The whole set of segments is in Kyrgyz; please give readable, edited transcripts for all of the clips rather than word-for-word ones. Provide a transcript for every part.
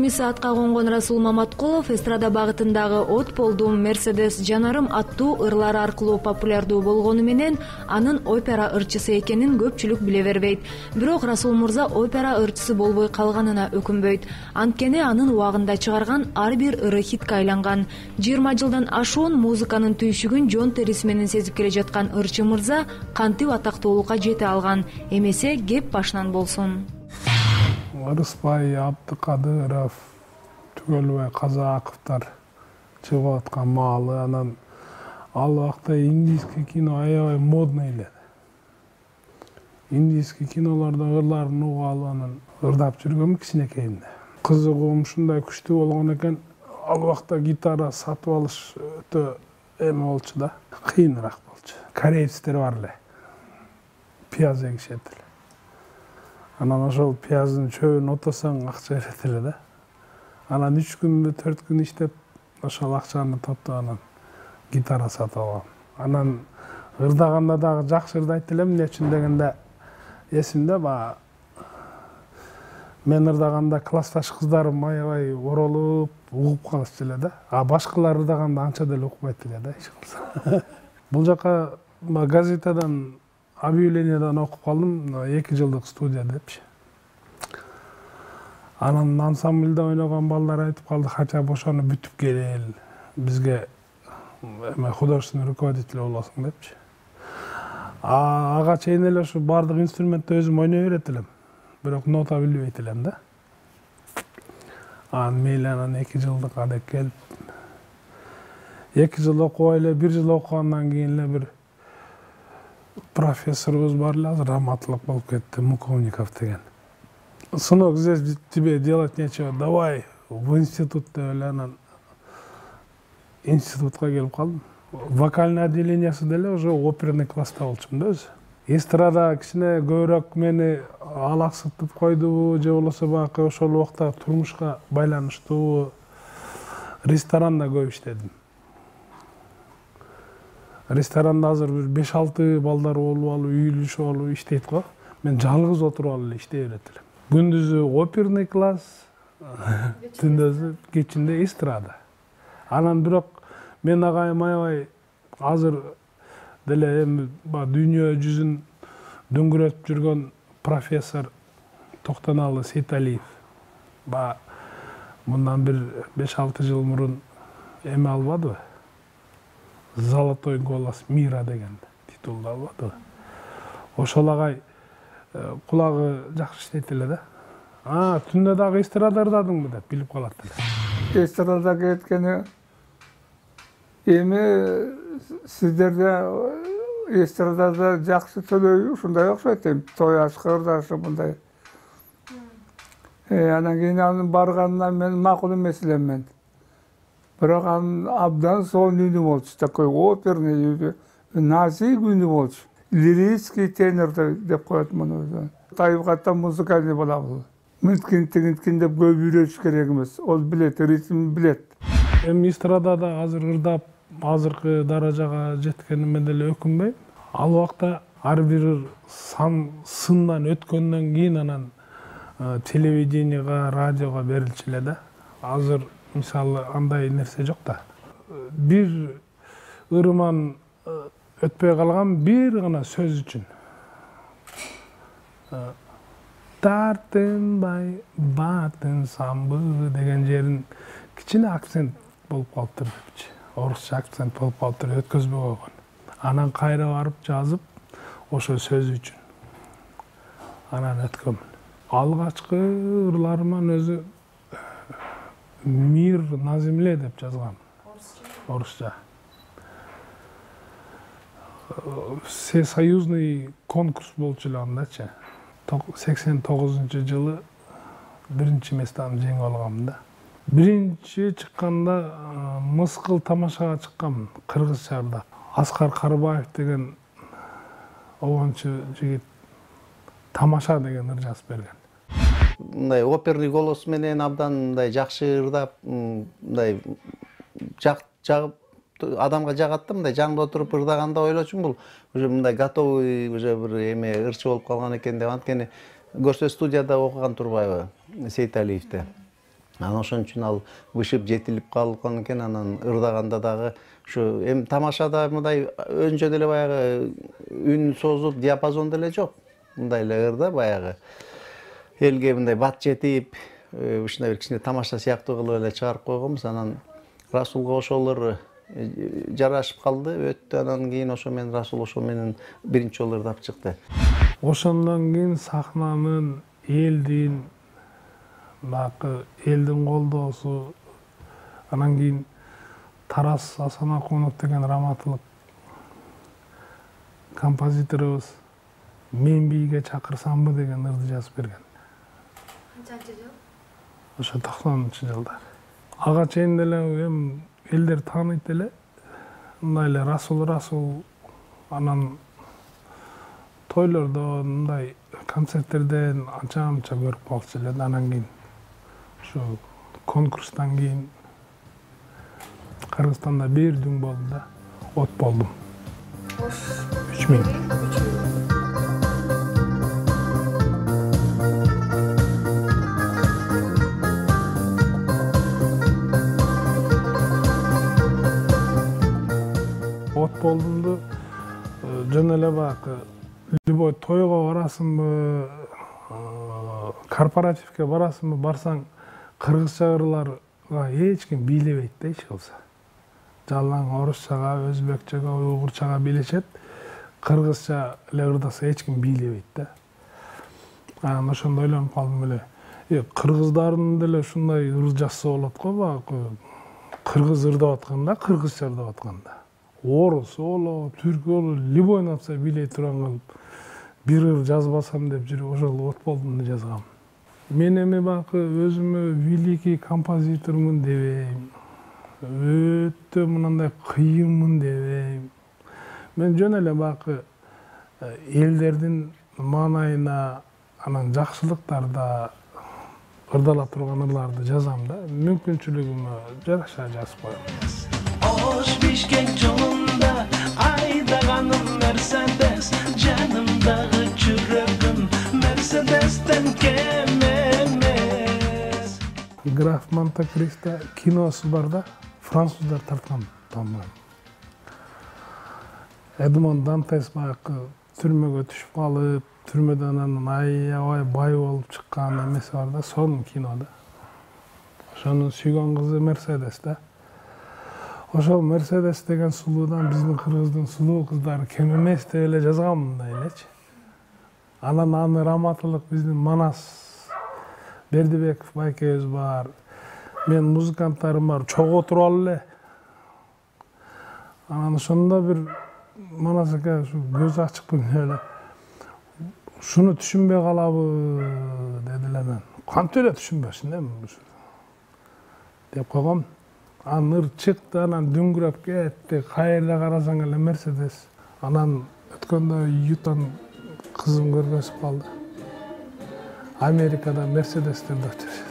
Комиссаатка конгон Расул Маматкулов эстрада багытындагы от болдум Мерседес жанарым аттуу ырлары аркылуу популярдуу болгону менен анын опера ырчысы экенин көпчүлүк биле бербейт. Бирок Расул мырза опера ырчысы болбой калганына өкүнбөйт. Анткени анын убагында чыгарган ар бир ыры хитке айланган. 20 жылдан ашуун музыканын түйшүгүн жон териси менен сезип келе жаткан ырчы мырза кантип атактуулукка жете алган? Эмесе кеп башынан болсун. Рыспай, Абдыкадыров, Түгөлбай Казаковдор чыгып аткан маалы, анан ал убакта индийский кино аябай модно эле. Индийский кинолордо ырларын угуп алып анан ырдап жүргөм кичинекейимде. Кызыгуум ушундай күчтүү болгон экен, ал убакта гитара сатып алыш өтө эме болчу да, кыйыныраак болчу. Корейцтер бар эле. Пияз эгишет эле. Анан ошол пияздын чөбүн отосоң акча берет эле да. Анан 3 күнбү 4 күн иштеп, ошол акчаны топтоп анан гитара сатып алгам. Анан ырдаганда дагы жакшы ырдайт элем, эмне үчүн дегенде эсимде баягы мен ырдаганда классташ кыздарым аябай оролуп, угуп калышчу эле да. А башкалар ырдаганда анча деле укпайт эле да, эч кылса. Бул жака газетадан объявлениядан окуп калдым, 2 жылдык студия депчи. Анан ансамбльде ойногон балдар айтып калды, хотя ошону бүтүп кел, бизге эме художественный руководитель болосуң депчи. Ага чейин эле ушу бардык инструментти өзүм ойной берет элем, бирок нота билбейт элем да. Мейли анан 2 жылдык адек келип, 2 жыл окубай эле, 1 жыл окугандан кийин эле бир профессорубуз бар эле, азыр раматтуулук болуп кетти, Муковников деген. Сынок, здесь тебе делать нечего, давай в институт деп эле анан институтка келип калдым. Вокальный отделениясы деле уже оперный класста болчумун да өзү. Эстрада кичине көбүрөөк мени алаксытып койдубу, же болбосо баягы ошол убакта турмушка байланыштуу ресторанда көп иштедим. Ресторанда азыр бир 5-6 балдар болуп алып, үйүлүшүп алып иштейт го. Мен жалгыз отуруп алып эле иштей берет элем. Күндүзү оперный класс, түндөзү кечинде эстрада. Анан бирок мен агайым аябай азыр деле эми дүйнө жүзүн дөңгөрөтүп жүргөн профессор Токтоналы Сейталиев. Мындан бир 5-6 жыл мурун эме албадыбы? Золотой голос мира деген титулду албадыбы? Ошол агай кулагы жакшы иштейт эле да. Түндө дагы эстрада ырдадыңбы деп билип калат эле. Эстрадага кеткени эми сиздерде эстрадада жакшы төлөйбү, ушундай окшойт эми той ашка ырдашы мындай. Анан кийин анын барганынан мен макул эмес элем мен. Бирок анын абдан сонун үнү болчу, такой оперный, назик үнү болчу. Лирический тенор деп коет муну. Тайбыкаттан музыкальный болобу. Мынткин деп көп үйрөтүш керек эмес. Ол билет, ритм билет. Эми эстрадада азыр ырдап, азыркы даражага жеткениме деле өкүнбөйм. Ал убакта ар бир сындан өткөндөн кийин анан телевиденияга, радиого берилчү эле да. Азыр мисалы андай нерсе жок да. Бир ырыман өтпөй калган бир гана сөз үчүн. Тартынбай батын самбы деген жерин кичине акцент болуп калыптыр депчи. Орусча акцент болуп калыптыр, өткөзбөй койгон. Анан кайра барып жазып, ошо сөз үчүн. Анан өткөмүн. Алгачкы ырларыман өзү мир на земле деп жазгам. Орусча. Всесоюзный конкурс болчу эле андачы. 89-жылы биринчи местаны жеңип алгам да. Биринчи чыкканда мыскыл тамашага чыккам, кыргызча ырдап. Аскар Карыбаев деген обончу жигит тамаша деген ыр жазып берген. Мындай оперный голос менен абдан мындай жакшы ырдап, мындай жагып адамга жагат да, мындай жаңда отуруп ырдаганда ойлочумун бул уже мындай готовый уже бир эме ырчы болуп калган экен деп. Анткени көрсө студияда окуган турбайбы Сейталиевди. Анан ошон үчүн ал бышып жетилип калган экен. Анан ырдаганда дагы ушу эми тамашада мындай өнчө деле баягы үн созуп диапазон деле жок. Мындай эле ырда баягы элге мындай бат жетип, ушундай бир кичине тамаша сыяктуу кылып эле чыгарып койгонбуз. Анан Расулга ошолор жарашып калды, өттү. Анан кийин ошо менен Расул ошо менен биринчи жолу ырдап чыкты. Ошондон кийин сахнанын, элдин, баягы элдин колдоосу, анан кийин Тарас Асанакунов деген раматылык композиторубуз мен бийге чакырсамбы деген ырды жазып берген. Канчанчы жыл? Ошо 90-жылдар. Ага чейин деле эми элдер тааныйт эле. Мындай эле Расул анан тойлордон, мындай концерттерден анча көрүп калчу эле. Анан кийин ушу конкурстан кийин Кыргызстанда бир дүң болду да, от болдум. 3000. От болдумду жөн эле баягы любой тойго барасыңбы, корпоративке барасыңбы, барсаң кыргызча ырларга эч ким бийлебейт да эч болсо. Жалаң орусчага, өзбекчеге, уйгурчага билишет. Кыргызча эле ырдаса эч ким бийлебейт да. Анан ошондо ойлонуп калдым эле. Кыргыздардын деле ушундай ыр жазса болот го, баягы кыргыз ырдап атканда, кыргызча ырдап атканда. Орус боло, түрк боло, любой нация бийлей турган кылып бир ыр жазбасам деп жүрүп ошол от болдумду жазгам. Мен эми баягы өзүмө великий композитормун дебейм. Өтө мындай кыйынмын дебейм. Мен жөн эле баягы элдердин маанайына, анан жакшылыктарда ырдала турган ырларды жазам да. Мүмкүнчүлүгүмө жараша жазып коем. Ош бишкек жолунда айдаганым Мерседес, жанымдагы жүрөгүм Мерседестен кем эмес. Граф Монте-Кристо киносу бар да, француздар тарткан тамам. Эдмон Дантес баягы түрмөгө түшүп калып, түрмөдөн анан аябай бай болуп чыккан эмеси бар да, сонун кинода. Ошонун сүйгөн кызы Мерседес да. Ошол Мерседес деген сулуудан биздин кыргыздын сулуу кыздары кем эмес деп эле жазгам мындай элечи. Анан аны раматылык биздин Манас Бердибеков байкебиз бар. Мен музыканттарым бар, чогуу туруп эле. Анан ошондо бир Манас эке көз ачык эле. Шуну түшүнбөй калабы деди эле мен. Кантип эле түшүнбөсүн эми деп койгом. Анан ыр чыкты, анан дүңгүрөп кетти. Каерде карасаң эле Мерседес. Анан өткөндө Ютан кызым көргөзүп калды. Америкада Мерседестерди өтүрүшөт.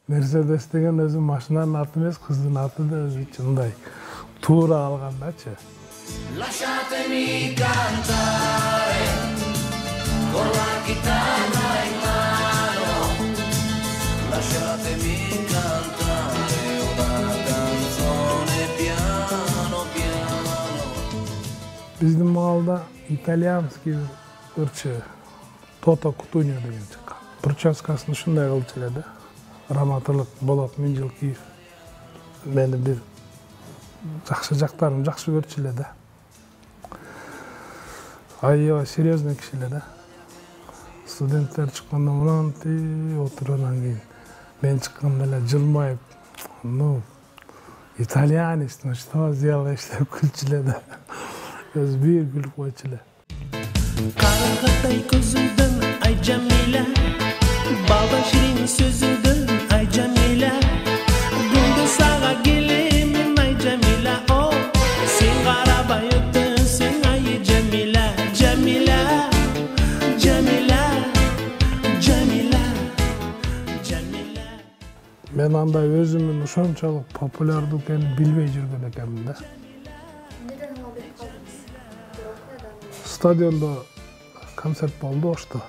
Мерседес деген өзү машинанын аты эмес, кыздын аты да өзүчө мындай туура алгандачы. Lasciatemi cantare con la chitarra in mano. Lasciatemi cantare una canzone piano piano. Биздин маалда итальянский ырчы Тото Кутуньо деген чыккан. Прическасын ушундай кылчу эле да. Раматылык Болот Миңжилкиев мени бир жакшы жактарын жакшы көрчү эле да. Аябай серьезный киши эле да. Студенттер чыкканда мынантип отургандан кийин мен чыкканда эле жылмайып, ну, итальянец, ну что сделаешь деп күлчү эле да. Өзү бир күлүп койчу эле. Карагаттай көзүңдөн ай Жамиля, балда ширин сөзүңдөн ай Жамиля, гүлдү сага келемин ай Жамиля, о, сен карабай өтөсүң ай Жамиля, Жамиля, Жамиля, Жамиля, Жамиля. Мен андай өзүмүн ошончолук популярдуу экенин билбей жүргөн экенмин да. Неден алып берип калдыңыз? Стадиондо концерт болду Ошто.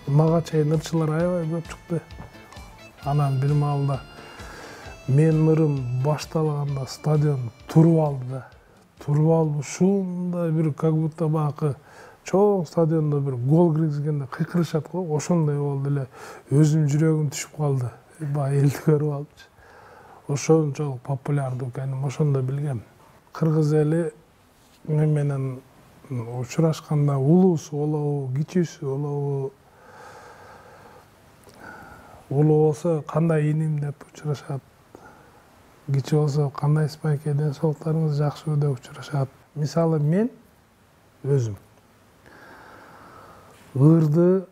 Мага чейин ырчылар аябай көп чыкты. Анан бир маалда менин ырым башталганда стадион туруп алды да. Туруп алып ушундай бир как будто баягы чоң стадиондо бир гол киргизгенде кыйкырышат го, ошондой болду эле. Өзүм жүрөгүм түшүп калды. Баягы элди көрүп алыпчы. Ошончолук популярдуу экенин ошондо билгем. Кыргыз эли менен учурашканда улуусу болобу, кичүүсү болобу, улуу болсо кандай иним деп учурашат. Кичүү болсо кандай спайке, ден соолуктарыңыз жакшыбы деп учурашат. Мисалы мен өзүм ырды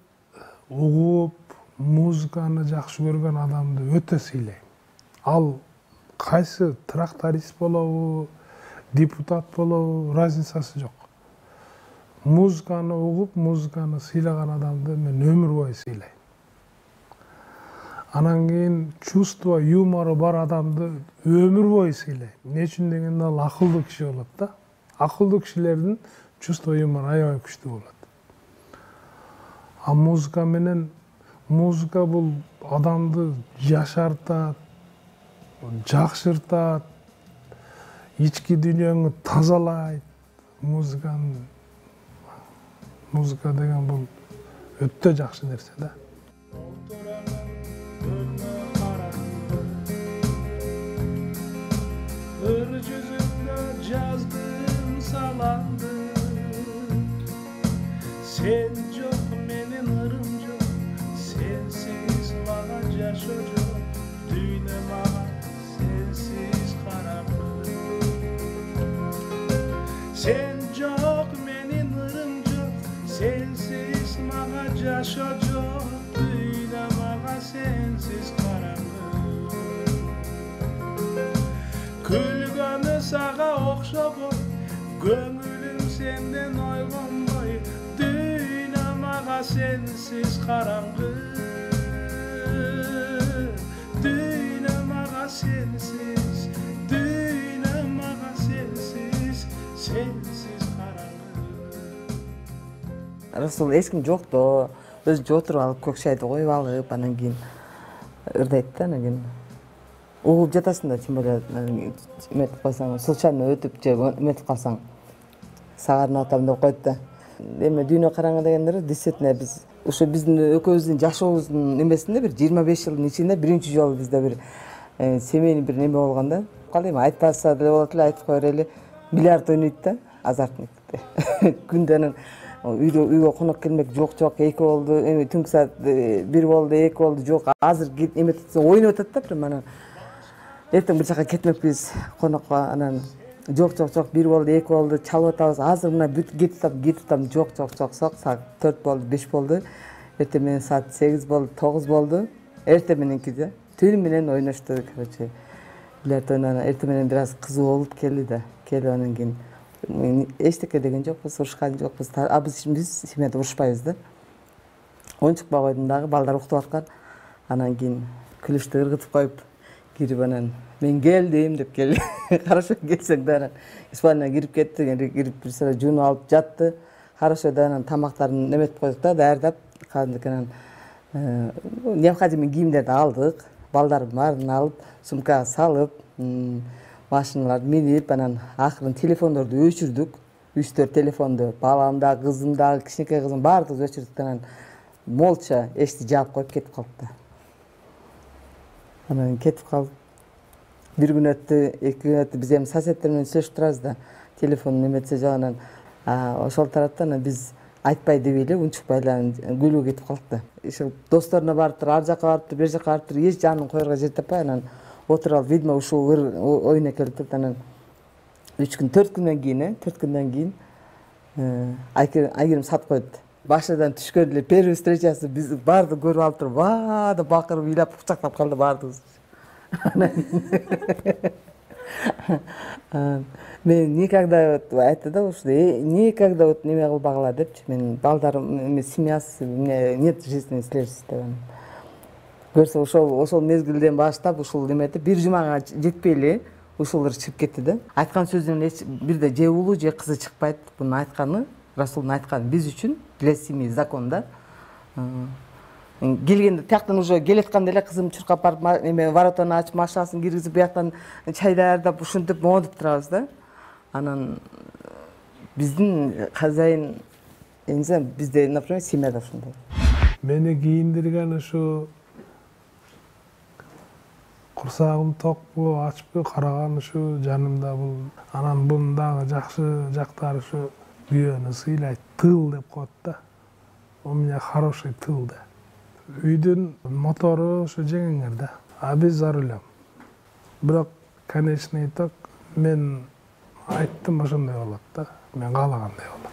угуп, музыканы жакшы көргөн адамды өтө сыйлайм. Ал кайсы тракторист болобу, депутат болобу, разницасы жок. Музыканы угуп, музыканы сыйлаган адамды мен өмүр бою сыйлайм. Анан кийин чувство, юмору бар адамды өмүр бою сыйлайм. Эмне үчүн дегенде ал акылдуу киши болот да. Акылдуу кишилердин чувство, юмору аябай күчтүү болот. А музыка менен, музыка бул адамды жашартат, жакшыртат, ички дүйнөңү тазалайт. Музыка деген бул өтө жакшы нерсе да. Ыр жүзүңдө жаздым саламды, сен жок менин ырым жок, сенсиз мага жашоо жок, дүйнө мага сенсиз караңгы. Сен жок менин ырым жок, сенсиз мага жашоо жок, дүйнө мага сенсиз караңгы. Күлгөнү сага окшобой, көңүлүм сенден ойгонбой, дүйнө мага сенсиз караңгы. Дүйнө мага сенсиз, дүйнө мага сенсиз, сенсиз караңгы. Расул эч ким жок да, өзүнчө отуруп алып көк чайды коюп алып, анан кийин ырдайт да, анан кийин угуп жатасың да, тем более эметип койсоң, случайно өтүп же эметип калсаң, сагарынып атам деп коет да. Эми дүйнө караңгы дегендер действительно биз ушу биздин экөөбүздүн жашообуздун эмесинде бир 25 жылдын ичинде биринчи жолу бизде бир семейный бир неме болгон да. Кандай эми айтпаса деле болот эле, айтып кое берели. Бильярд ойнойт да, азартникте. Күндө анан үйгө конок келмек жок, эки болду, эми түнкү саат 1 болду, 2 болду, жок. Азыр эметип ойноп атат да, прям анан эртең бир жака кетмекпиз конокко, анан жок, 1 болду, 2 болду, чалып атабыз. Азыр мына кетип атам, жок, саат 4 болду, 5 болду. Эртең менен саат 8 болду, 9 болду. Эртең мененки да. Түнү менен ойношту, короче. Бильярд ойногон эртең менен бир аз кызуу болуп келди да. Келип анан кийин эчтеке деген жокпуз, урушкан жокпуз. А биз семьяда урушпайбыз да. Оюнчукка койдум дагы, балдар уктуп аткан. Анан кийин күлүштү ыргытып коюп кирип анан мен келдим деп келди. Хорошо келсең да, анан спальняга кирип кетти, кирип бир сыра жуунуп алып жатты. Хорошо да, анан тамактарын неметип койдук да, даярдап, кадимки анан необходимый кийимдерди алдык, балдардын баарын алып, сумкага салып, машиналарды минип, анан акырын телефондорду өчүрдүк. 3-4 телефонду, балам да, кызым да, кичинекей кызым баардыгыбыз өчүрдүк, анан молча эшикти жаап коюп кетип калдык да. Анан кетип калып, бир күн өттү, 2 күн өттү, биз эми соседтер менен сүйлөшүп турабыз да, телефон неметсе жок, анан ошол тарапта анан биз айтпай дебей эле, унчукпай эле күлүүгө кетип калдык да. Иши досторуна барыптыр, ар жака барыптыр, бер жака барыптыр, эч жанын коерго жер таппай, анан отуруп алып, видимо, ушул оюна келип турат. Анан 3 күн, 4 күндөн кийин, 4 күндөн кийин Айгерим сатып койду. Башыдан түшкөн эле первый встречасы биз баарды көрүп алып туруп, ва деп бакырып, ыйлап, кучактап калды баардыгыбыз. Мен никогда айтты да, ушул никогда неме кылбагыла депчи. Мен балдарым, семьясы, нет жизни следующий деп. Көрсө ошол мезгилден баштап ушул неметип бир жумага жетпей эле ушул чыгып кетти да. Айткан сөзүнөн бирде же же кызы чыкпайт. Бунун айтканы, Расулдун айтканы биз үчүн для семьи закон да. Келгенде тияктан уже келатканда эле кызым чуркап барып эме воротаны ачып машинасын киргизип бияктан чай даярдап ушинтип моңдуп турабыз да. Анан биздин хозяин эмне бизде, например, семьяда ушундай. Мени кийиндирген ушу курсагым токпу, ачпы караган ушу жанымда бул. Анан бунун дагы жакшы жактары ушу күйөөнү сыйлайт, тыл деп коет да. У меня хороший тыл да. Үйдүн мотору ушу жеңиңер да. А биз за рулем. Бирок, конечный итог мен айттым ошондой болот да. Мен каалагандай болот.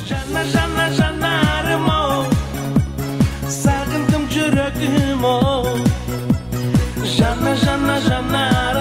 Жана жана жанарым о, сагындым жүрөгүм о. Жана жана жанарым